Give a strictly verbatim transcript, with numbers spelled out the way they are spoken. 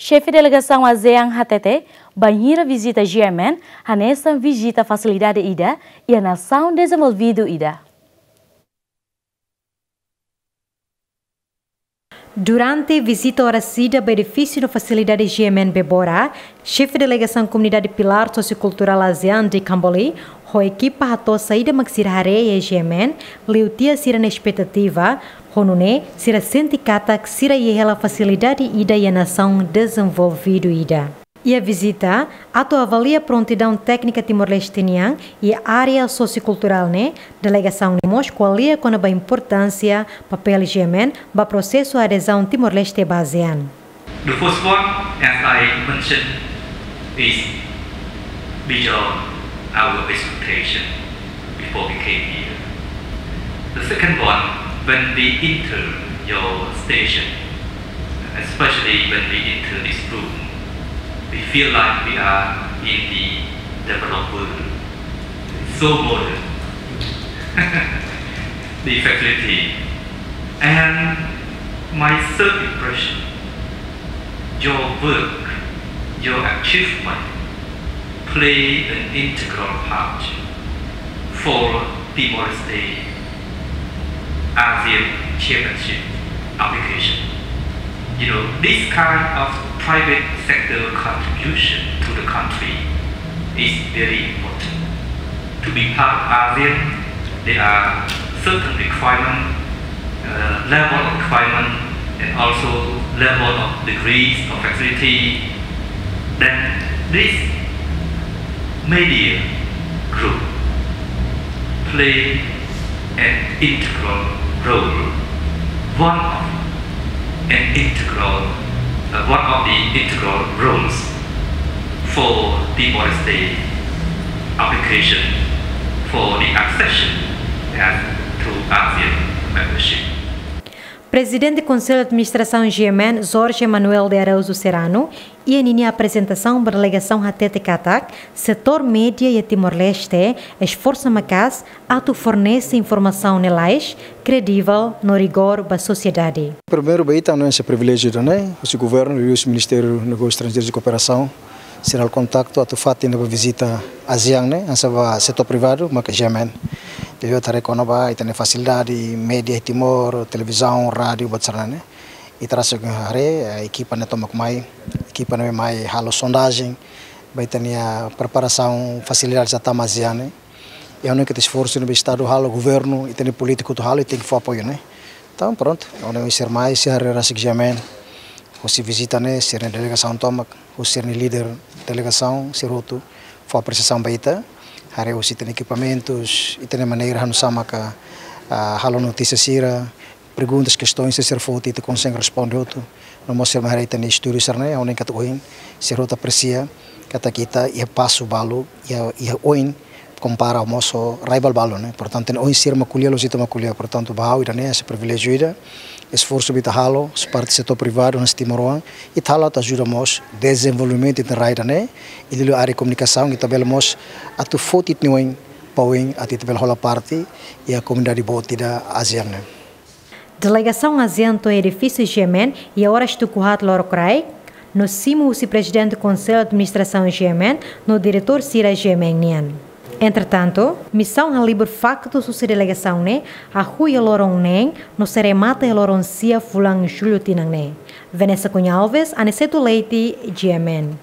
Xefe delegasaun ASEAN hatete, bainhira vizita G M N, hanesan vizita fasilidade ida iha nasaun dezenvolvidu ida. Durante vizita oras ida ba edifísiu no fasilidade G M N Bebora, xefe delegasaun Komunidade Pilár Sosiokulturál ASEAN de Kamboli, ho ekipa hato'o saida mak sira haree iha G M N, liu tiha sira-nia espetativa, ho nune'e sira sente katak sira iha hela fasilidade ida iha nasaun dezenvolvidu ida. Iha vizita, atu avalia prontidaun téknika Timor-Leste nian iha área sosiokulturál ne'e, delegasaun ne'e mós ko'alia kona-ba importánsia papél G M N ba prosesu adezaun Timor-Leste ba ASEAN. The first one, as I mentioned, is beyond our expectation before we came here. The second one, when we enter your station, especially when we enter this room, we feel like we are in the developed world. It's so modern. The facility. And my third impression, your work, your achievement play an integral part for Timor-Leste ASEAN chairmanship application. You know, this kind of private sector contribution to the country is very important. To be part of ASEAN, there are certain requirement, uh, level of requirement, and also level of degrees of facility. Then this media group play an integral role, one of an integral, uh, one of the integral roles for Timor-Leste application for the accession as to ASEAN membership. Prezidente Konsellu Administrasaun G M N, Jorge Manuel de Araújo Serrano, iha ninia aprezentasaun ba delegasaun hatete katak, setór média iha Timor-Leste esforsa maka'as atu fornese informasaun ne'e lalais, kredivel no rigór ba sosiedade. Primeiru, ba ita, no esse privilégiu ida-ne'e, husi governu, husi Ministériu Negósius Estranjeirus no Kooperasaun, sira halo kontaktu atu fatin ba vizita ASEAN ne'e, hanesan ba setór privadu, maka G M N. Jadi, ita haree kona-ba ita-nia fasilidade, média Timor, televizaun, rádiu, buat sira-ne'e. Ita rasik haree, eh, ekipa ne'e tomak mai, ekipa ne'e mai halo sondajen, ba ita-nia preparasaun fasilidade atu tama ASEAN ne'e. I ha'u hanoin katak esforsu ne'ebé Estadu halo, governu, ita-nia polítiku atu halo, ita tenke fó apoiu ne'e. Entaun, prontu, ha'u hanoin sira mai, sira haree rasik G M N, husi vizita ne'e, sira-nia delegasaun tomak, husi sira-nia líder delegasaun, sira hotu fó apresiasaun ba ita, haree husi ita-nia ekipamentus, ita-nia maneira hanesan maka, ah, halo notísia sira, perguntas, kestoens sira foti, ita konsege responde hotu. No mós sira mai haree ita-nia estúdiu sira-ne'e, ha'u hanoin katak oin, sira hotu apresia katak ita iha pasu balu, iha, iha oin, kompara mós ho rai balu ne'e. Portantu, oin sira mak ko'alia, loos ita mak ko'alia. Portantu, ba ha'u ida-ne'e, hanesan priviléjiu ida, esforsu ne'ebé ita halo, husi parte setór privadu, hanesan timoroan, ita halo atu ajuda mós dezenvolvimentu ita-nia rai ida-ne'e, i liuliu área komunikasaun, ita bele mós atu foti ita-nia oin ba oin, atu ita bele hola parte iha komunidade boot ida ASEAN ne'e. Delegasaun ASEAN to'o edifísiu G M N iha oras tuku haat lorokraik, no simu husi Prezidente Konsellu Administrasaun G M N, no diretór sira G M N nian. Entretantu, misaun halibur faktus husi delegasaun ne'e hahú iha loron neen, no sei remata iha loron sia fulan Jullu tinan ne'e. Vanessa Cunha Alves, Aniceto Leite, G M N.